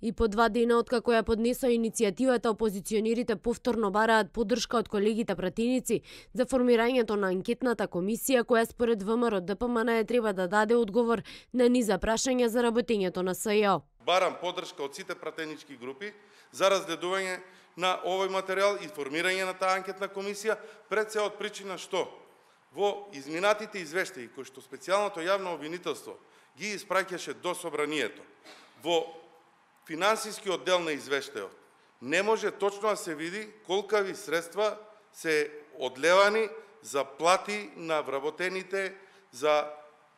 И по 2 дена откако ја поднесоа иницијативата, опозиционерите повторно бараат поддршка од колегите пратеници за формирањето на анкетната комисија која според ВМРО ДПМН треба да даде одговор на низа прашања за работењето на СЈО. Барам поддршка од сите пратенички групи за разгледување на овој материјал и формирање на таа анкетна комисија, пред се од причина што во изминатите извештаи кои што специјалното јавно обвинителство ги испраќаше до собранието, во финансискиот дел на извештајот не може точно да се види колкави средства се одлевани за плати на вработените, за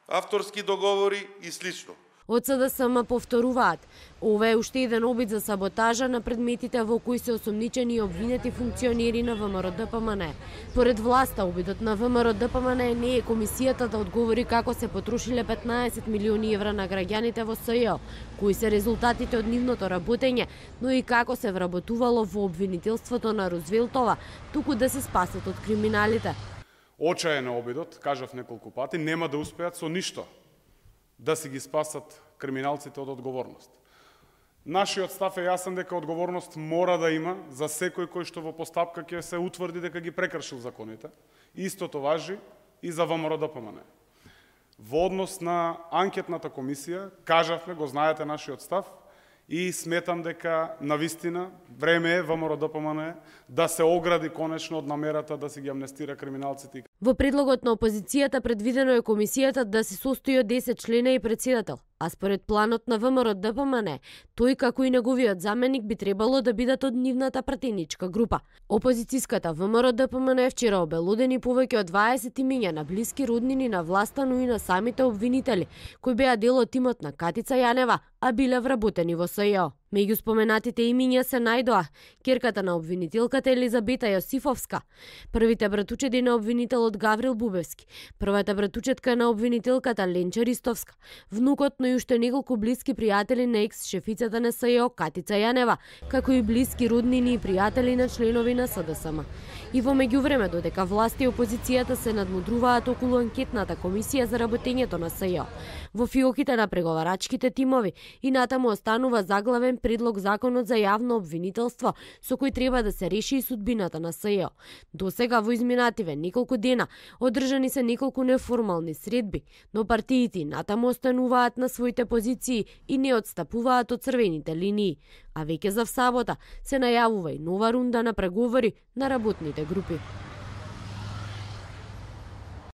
авторски договори и слично. Од СДСМ повторуваат, ова е уште еден обид за саботажа на предметите во кои се осомничени и обвинети функционери на ВМРО ДПМН. Поред власта, обидот на ВМРО ДПМН не е комисијата да одговори како се потрошиле 15 милиони евра на граѓаните во СЈО, кои се резултатите од нивното работење, но и како се вработувало во обвинителството на Рузвелтова, туку да се спасат од криминалите. Очаен е обидот, кажав неколку пати, нема да успеат со ништо да си ги спасат криминалците од одговорност. Нашиот став е јасен дека одговорност мора да има за секој кој што во постапка ќе се утврди дека ги прекршил законите. Истото важи и за ВМРО ДПМН. Во однос на анкетната комисија, кажавме, го знаете нашиот став, и сметам дека навистина време е ВМРО ДПМН да се огради конечно од намерата да се ги амнестира криминалците. Во предлогот на опозицијата предвидено е комисијата да се состои од 10 члена и председател, а според планот на ВМРО ДПМН, тој како и неговиот заменик би требало да бидат од нивната пратеничка група. Опозицијската ВМРО ДПМН вчера обелудени повеќе од 20 имиња на блиски роднини на власта, но и на самите обвинители, кои беа дел од тимот на Катица Јанева, а биле вработени во СЈО. Меѓу споменатите имиња се најдоа ќерката на обвинителката Елизабета Јосифовска, првите братучеди на обвинителот Гаврил Бубевски, првата братучетка на обвинителката Ленча Ристовска, внукот, но и уште неколку блиски пријатели на екс-шефицата на СЈО Катица Јанева, како и блиски роднини и пријатели на членови на СДСМ. И во меѓувреме, додека власти и опозицијата се надмудруваат околу анкетната комисија за работењето на СЈО, во фиоките на преговарачките тимови и натаму останува заглавен предлог законот за јавно обвинителство со кој треба да се реши и судбината на СЈО. До сега во изминативе неколку дена одржани се неколку неформални средби, но партиите натаму остануваат на своите позиции и не отстапуваат од црвените линии. А веќе за сабота се најавува и нова рунда на преговори на работните групи.